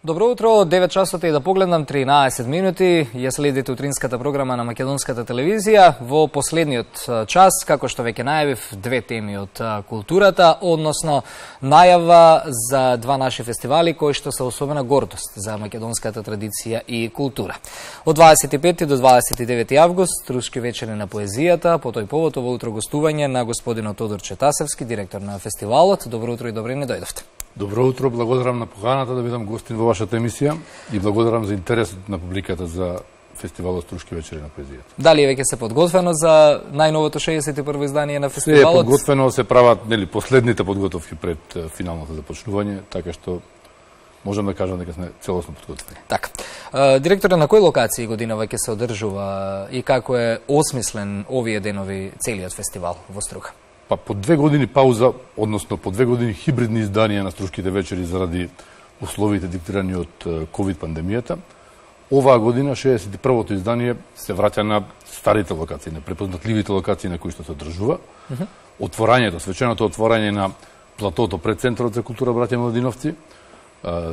Добро утро, 9 часот и да погледнам 13 минути. Ја следите утринската програма на Македонската телевизија. Во последниот час, како што веќе најавив, две теми од културата, односно најава за два наши фестивали кои што се особена гордост за македонската традиција и култура. Од 25 до 29 август, Трушки вечери на поезијата, по тој повод ово утро гостување на господинот Тодор Четасевски, директор на фестивалот. Добро утро и добре не дојдовте. Добро утро, благодарам на поканата да бидам гостин во вашата емисија и благодарам за интересот на публиката за фестивалот Трушки вечери на поезијата. Дали веќе се подготвено за најновото 61-во издание на фестивалот? Се е подготвено, се прават последните подготовки пред финалното започнување, така што можам да кажам дека сме целосно подготвени. Така. Директоре, на кои локации годинава ќе се одржува и како е осмислен овие денови целиот фестивал во Струга? Па по 2 години пауза, односно по 2 години хибридни изданија на Трушките вечери заради условите диктирани од ковид пандемијата, оваа година 61-то издание се враќа на старите локации, на препознатливите локации на кои што се одржува. Отворањето, свеченото отворање на платото пред Центарот за култура Браќа Младиновци,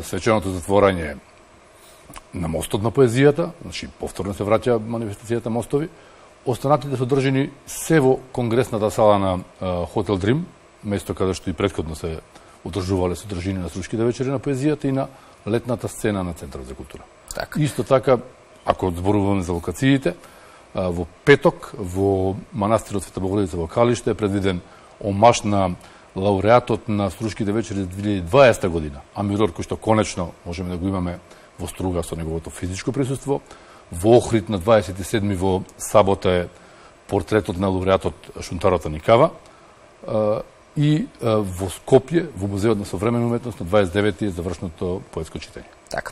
свеченото затворање на Мостот на поезијата, значи повторно се враќа манифестацијата Мостови. Останатите се одржани се во конгресната сала на Хотел Дрим, место каде што и претходно се одржувале содржини на Трушките вечери на поезијата и на летната сцена на Центарот за култура. Так. Исто така, ако зборуваме за локациите, во петок во манастирот Света Богородица во Калиште е предвиден омаш на лауреатот на Трушките вечери за 2020 година, Амирор, кој што конечно можеме да го имаме во Струга со неговото физичко присуство. Во Охрид на 27 во сабота е портретот на лауреатот Шунтарата Никава и во Скопје, во Музеот на современа уметност на 29 е завршното поетско читање. Така.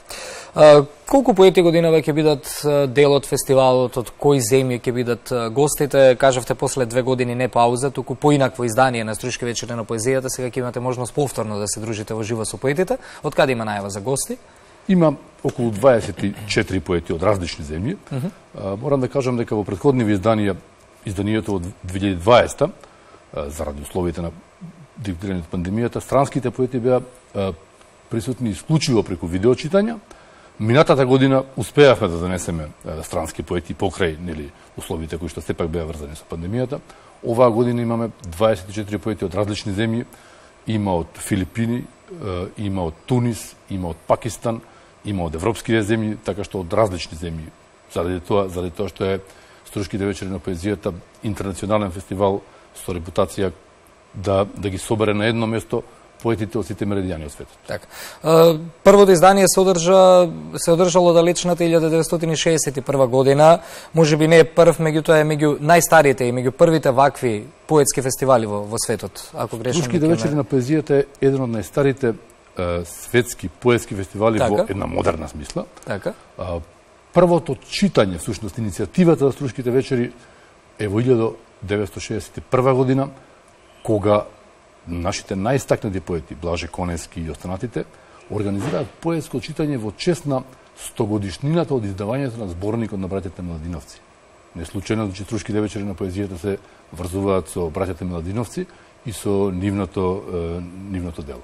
Колку поети годинава ќе бидат дел од фестивалот, од кои земји ќе бидат гостите? Кажавте после 2 години не пауза, туку поинакво издание на Трушки вечери на поезијата, сега ќе имате можност повторно да се дружите во живо со поетите. Од каде има најава за гости? Има околу 24 поети од различни земји. Морам да кажам дека во претходниви изданија, изданието од 2020, заради условите на диктирани од пандемијата, странските поети беа присутни исклучиво преку видеочитања. Минатата година успеавме да донесеме странски поети покрај условите кои што сепак беа врзани со пандемијата. Оваа година имаме 24 поети од различни земји. Има од Филипини, има од Тунис, има од Пакистан, има од европските земји, така што од различни земји. Заради тоа што е Трушките вечери на поезијата интернационален фестивал со репутација да ги собере на едно место поетите од сите меридијани од светот. Така. Првото издание се одржало далечната 1961 година. Можеби не е прв, меѓутоа е меѓу најстарите и меѓу првите вакви поетски фестивали во светот. Ако грешам. Трушките вечери на поезијата е еден од најстарите светски поетски фестивали во една модерна смисла. Така. Првото читање, всушност иницијативата за Трушките вечери е во 1961 година, кога нашите најстакнати поети, Блаже Конески и останатите, организираат поетско читање во чест на 100-годишнината од издавањето на зборникот на браќата Младиновци. Не случајно, че Трушките вечери на поезијата се врзуваат со браќата Младиновци и со нивното дело.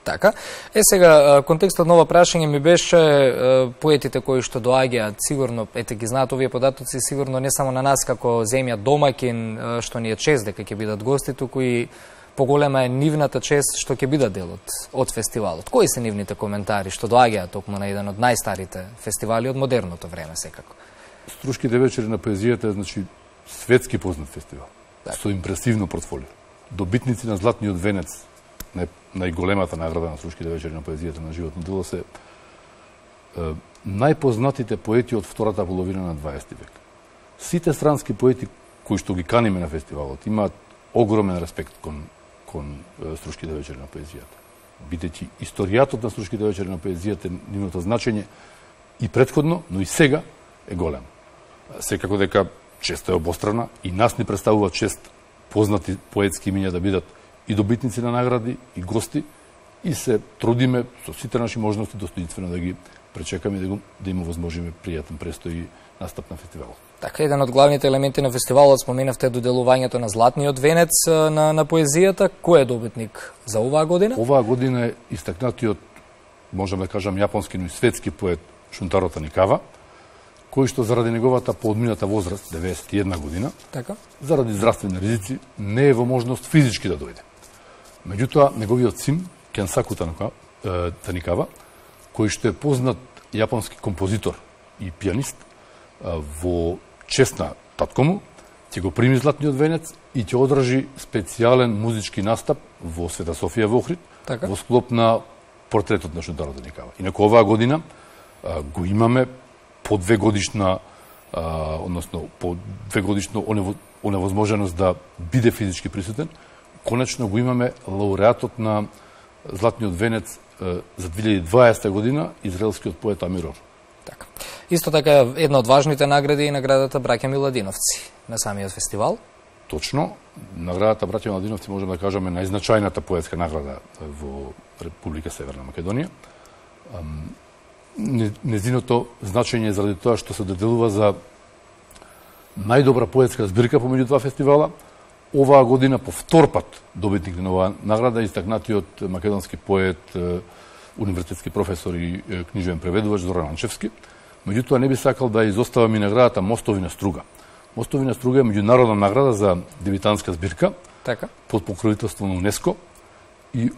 Така. Сега, контекстот на ова прашање ми беше поетите кои што доаѓаат, сигурно, ги знаат овие податоци, сигурно не само на нас како земја домаќин, што ни е чест дека ќе бидат гости, туку и поголема е нивната чест што ќе бидат дел од фестивалот. Кои се нивните коментари што доаѓаат токму на еден од најстарите фестивали од модерното време секако? Трушките вечери на поезијата е, значи, светски познат фестивал, со импресивно портфолио. Добитници на Златниот венец, најголемата награда на Трушките вечери на поезијата на животно дело, се најпознатите поети од втората половина на 20 век. Сите странски поети кои што ги каниме на фестивалот имаат огромен респект кон Трушките вечери на поезијата. Бидејќи историјатот на Трушките вечери на поезијата, нивното значење и претходно, но и сега е голем. Секако дека честа е обострана и нас ни представува чест познати поетски имиња да бидат и добитници на награди, и гости, и се трудиме со сите наши можности достоинствено да ги пречекаме и да им овозможиме пријатен престој и настап на фестивалот. Така, еден од главните елементи на фестивалот, споменавте доделувањето на Златниот венец на поезијата. Кој е добитник за оваа година? Оваа година е истакнатиот можам да кажам јапонски, но и светски поет Шунтаро Таникава, кој што заради неговата поодмината возраст, 91 година, Така. заради здравствени ризици, не е во можност физички да дојде. Меѓутоа, неговиот син, Кенсаку Таникава, кој што е познат јапонски композитор и пианист, во чест на татко му, ќе го прими златниот венец и ќе одржи специјален музички настап во Света Софија во Охрид, Така. во склоп на портретот на Шунтаро Таникава. Инаку оваа година го имаме по 2 годишна, односно по 2 годишно оневозможеност да биде физички присутен. Конечно го имаме лауреатот на златниот венец за 2020 година, израелскиот поет Амир Ор. Така. Исто така една од важните награди е наградата Браќа Миладиновци на самиот фестивал. Точно, наградата Браќа Миладиновци можеме да кажеме најзначајната поетска награда во Република Северна Македонија. Незиното значење заради тоа што се доделува за најдобра поетска збирка помеѓу два фестивала. Оваа година по втор пат добитник на оваа награда истакнатиот македонски поет, универзитетски професор и книжевен преведувач Зоран Анчевски. Меѓутоа не би сакал да изоставам и наградата Мостови на струга. Мостови на струга е меѓународна награда за дебитантска збирка, Така. под покровителство на УНЕСКО, и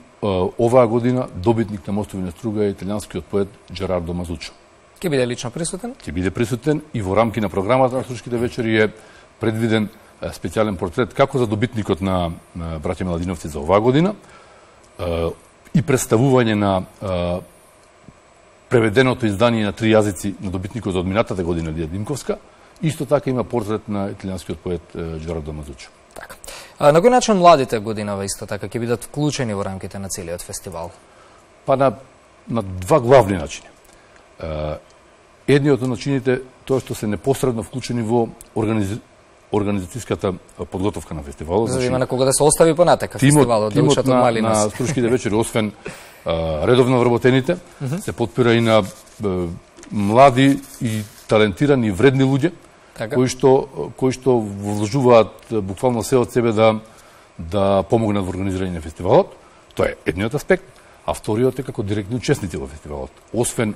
оваа година добитник на Мостови на струга е италијанскиот поет Джерардо Мазучо. Ќе биде лично присутен? Ќе биде присутен и во рамки на програмата на Струшките вечери е предвиден специјален портрет како за добитникот на Браќа Миладиновци за оваа година и представување на преведеното издание на 3 јазици на добитникот за одминатата година Лија Димковска. Исто така има портрет на италијанскиот поет Джерардо Мазучо. Така. На кој начин младите годинава исто така ќе бидат вклучени во рамките на целиот фестивал? Па на два главни начини. Едниот од начините тоа што се непосредно вклучени во организацијската подготовка на фестивалот. За да има на кого да се остави понатака фестивалот, да учат од мали на Струшките вечери, освен редовно вработените, се потпира и на млади и талентирани и вредни луѓе, Така. кои што вложуваат буквално се од себе да помогнат во организирање на фестивалот. Тоа е едниот аспект, а вториот е како директни учесници во фестивалот. Освен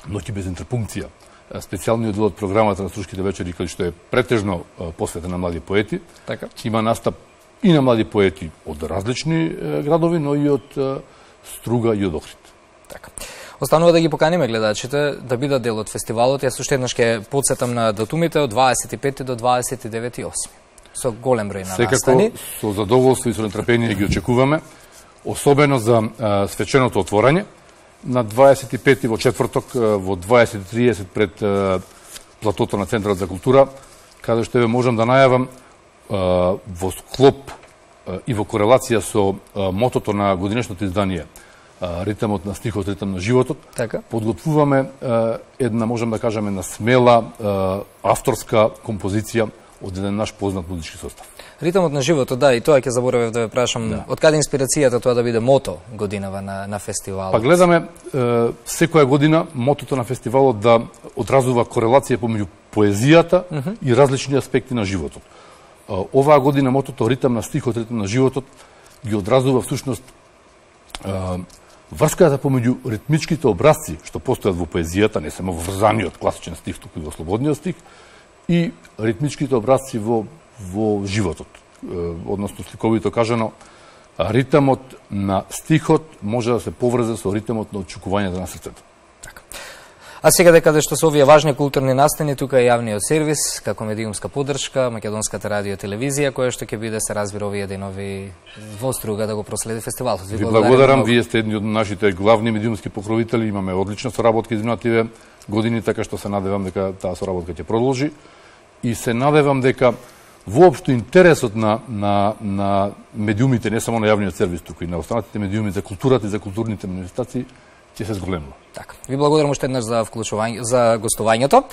Ноќи без интерпункција, специјалниот дел од програмата на Струшките вечери, кај што е претежно посветен на млади поети, Така. има настап и на млади поети од различни градови, но и од Струга и од Охрид. Така. Останува да ги поканиме гледачите да бидат дел од фестивалот. Јас уште еднаш ќе потсетам на датумите од 25 до 29.8. Со голем број на настани. Секако со задоволство и со нетрпение ги очекуваме, особено за свеченото отворање на 25 во четврток во 20:30 пред платото на Центарот за култура, каде што ве можам да најавам во склоп и во корелација со мотото на годинешното издание Ритамот на стихот, ритам на животот. Така. Подготвуваме една, можам да кажеме, една смела авторска композиција од еден наш познат музички состав. Ритамот на животот, да, и тоа ќе заборавев да ве прашам, од каде инспирацијата тоа да биде мото годинава на фестивалот? Па гледаме секоја година мотото на фестивалот да одразува корелација помеѓу поезијата и различни аспекти на животот. Оваа година мотото Ритам на стихот, ритам на животот ги одразува всушност врската помеѓу ритмичките образци што постојат во поезијата, не само во врзаниот класичен стих, туку и во слободниот стих, и ритмичките образци во животот. Односно, сликовито кажано, ритамот на стихот може да се поврзе со ритамот на очекувањето на срцето. Така. А сега дека што се овие важни културни настани, тука е јавниот сервис, како медиумска поддршка, Македонската радио телевизија, која што ќе биде се разбира овие денови во Струга да го проследи фестивалот. Ви благодарам, вие сте едни од нашите главни медиумски покровители, имаме одлична соработка изминативе години, така што се надевам дека таа соработка ќе продолжи и се надевам дека воопшто интересот на медиумите, не само на јавниот сервис, туку и на останатите медиуми за културата и за културните манифестации ќе се зголемува. Така. Ви благодарам уште еднаш за гостувањето.